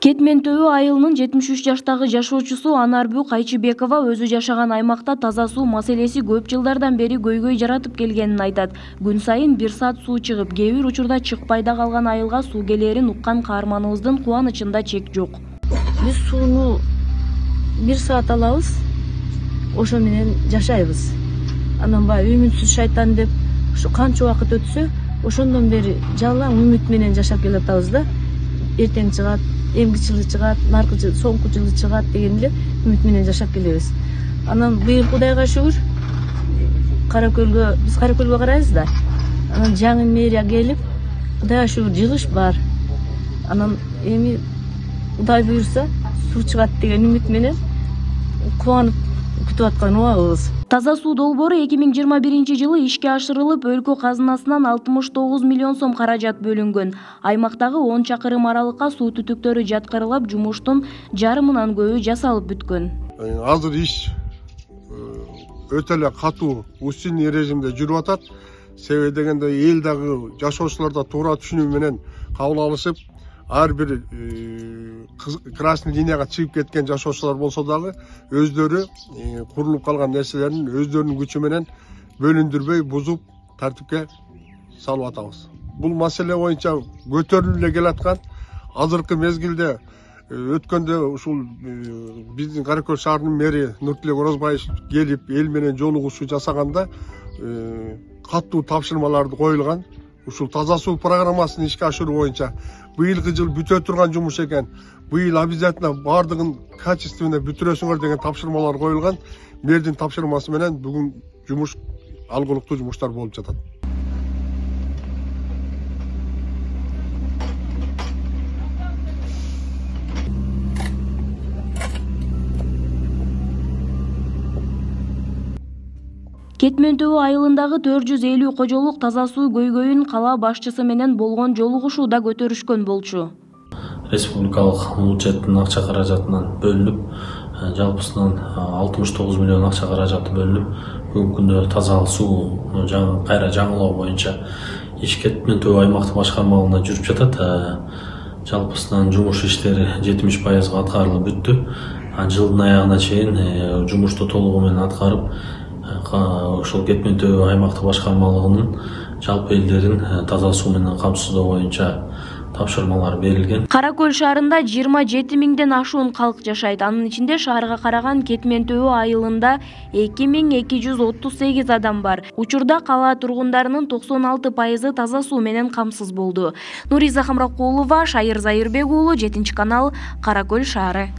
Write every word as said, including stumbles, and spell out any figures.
Кетмен Төбө айылынын жетимиш үч жаштагы жашоочусу Анарбү Кайчыбекова өзү жашаган аймакта таза суу маселеси көп жылдардан бери көйгөй жаратып келгенин айтат. Күн сайын бир саат суу чыгып, кээ бир учурда чыкпай да калган айылга суу келерин уккан каарманыбыздын кубанычында чек жок. Биз сууну бир саат алабыз, ошо менен жашайбыз. Анан баягы үмүтсүз шайтан деп ушу канча убакыт өтсө, ошондон бери жалаң үмүт менен жашап келатабыз да. Эртең чыгат, эмки жылы чыгат, наркы жылы, соңку жылы чыгат деген эле үмүт менен жашап келебиз. Анан быйыл Кудайга шүгүр, Каракөлгө, биз Каракөлгө карайбыз да. Анан жаңы мэрия келип, Кудайга шүгүр жылыш бар. Анан эми Кудай буйрса суу чыгат деген үмүт менен кубанып күтүп аткан убагыбыз. Таза суу долбоору эки миң жыйырма биринчи жылы ишке ашырылып, өлкө казынасынан алтымыш тогуз миллион сом каражат бөлүнгөн. Аймактагы он чакырым аралыкка суу түтүктөрү жаткырылып, жумуштун жарымынан көбү жасалып бүткөн. Азыр иш өтө эле катуу устинный режимде жүрүп атат. Себеби дегенде эл дагы жашоочулар да туура түшүнүү менен кабыл алышып, ар бир красный линияга чыгып кеткен жашоочулар болсо дагы өздөрү курулуп калган нерселерин өздөрүнүн күчү менен бөлүндүрбөй бузуп тартипке салып атабыз. Бул маселе боюнча көтөрүлүп эле келаткан. Азыркы мезгилде өткөндө ушул биздин Каракөл шаарынын мэри Нуртилек Орозбаев келип эл менен жолугушуу жасаганда катуу тапшырмаларды коюлган. Ушул таза суу программасын ишке ашыруу боюнча быйылкы жыл бүтө турган жумуш экен. Быйыл обязательно бардыгын качественно бүтүрөсүңөр деген тапшырмалар коюлган. Мэрдин тапшырмасы менен бүгүн жумуш алгылыктуу жумуштар болуп жатат. Кетмен Төбө айылындагы төрт жүз элүү кожолук таза суу көйгөйүн кала башчысы менен болгон жолугушууда көтөрүшкөн болчу. Республикалык бюджеттин акча каражатынан бөлүнүп, жалпысынан алтымыш тогуз миллион акча каражаты бөлүнүп, бүгүнкү күндө таза суу кайра жаңылоо боюнча иш Кетмен Төбө аймактык башкармалыгында жүрүп жатат. Жалпысынан жумуш иштери жетимиш пайызга аткарылып бүттү. Жылдын аягына чейин жумушту толугу менен аткарып, ошол Кетмен Төбө аймактык башкармалыгынын жалпы элдерин таза суу менен камсыздоо боюнча тапшырмалар берилген. Каракөл шаарында жыйырма жети миңден ашуун калк жашайт. Анын ичинде шаарга караган Кетмен Төбө айылында эки миң эки жүз отуз сегиз адам бар. Учурда кала тургундарынын токсон алты пайызы таза суу менен камсыз болду. Нуриза Хамракулова, Шайыр Зайырбек уулу, жетинчи канал, Каракөл шаары.